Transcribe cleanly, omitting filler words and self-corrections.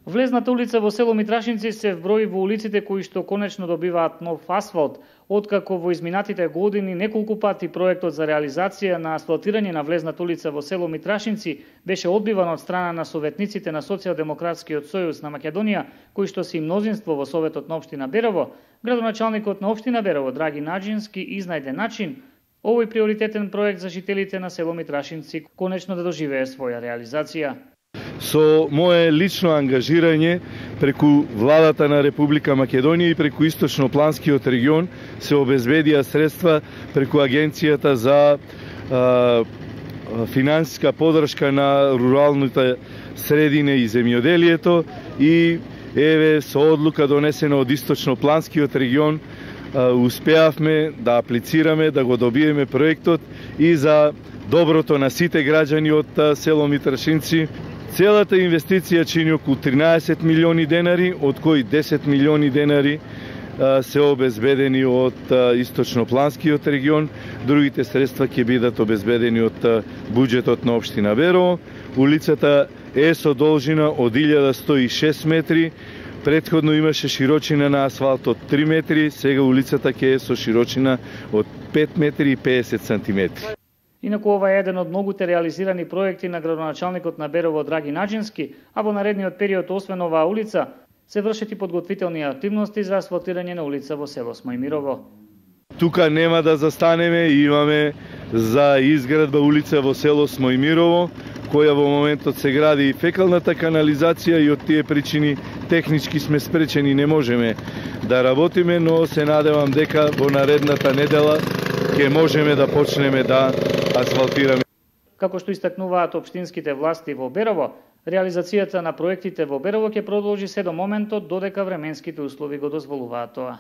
Влезната улица во село Митрашинци се вброи во улиците кои што конечно добиваат нов асфалт, откако во изминатите години неколку пати проектот за реализација на асфалтирање на влезната улица во село Митрашинци беше одбиван од страна на советниците на Социјалдемократскиот сојуз на Македонија, кои што се и мнозинство во Советот на општина Берово. Градоначалникот на општина Берово Драги Наџински изнајде начин овој приоритетен проект за жителите на село Митрашинци конечно да доживее своја реализација. Со мое лично ангажирање преку владата на Република Македонија и преку Источнопланскиот регион се обезбедија средства преку Агенцијата за финансиска поддршка на руралните средини и земјоделието и еве со одлука донесена од Источнопланскиот регион успеавме да аплицираме, да го добиеме проектот и за доброто на сите граѓани од село Митрашинци. Целата инвестиција чини околу 13 милиони денари, од кои 10 милиони денари се обезбедени од Источнопланскиот регион, другите средства ќе бидат обезбедени од буџетот на општина Берово. Улицата е со должина од 1106 метри, претходно имаше широчина на асфалт од 3 метри, сега улицата ќе е со широчина од 5 метри и 50 сантиметри. Инаку ова е еден од многуте реализирани проекти на градоначалникот на Берово Драги Наџински, а во наредниот период освен оваа улица се вршат и подготвителни активности за асфалтирање на улица во село Смојмирово. Тука нема да застанеме, имаме за изградба улица во село Смојмирово, која во моментот се гради и фекалната канализација и од тие причини технички сме спречени, не можеме да работиме, но се надевам дека во наредната недела ќе можеме да почнеме да асфалтираме. Како што истакнуваат општинските власти во Берово, реализацијата на проектите во Берово ќе продолжи се до моментот додека временските услови го дозволуваат тоа.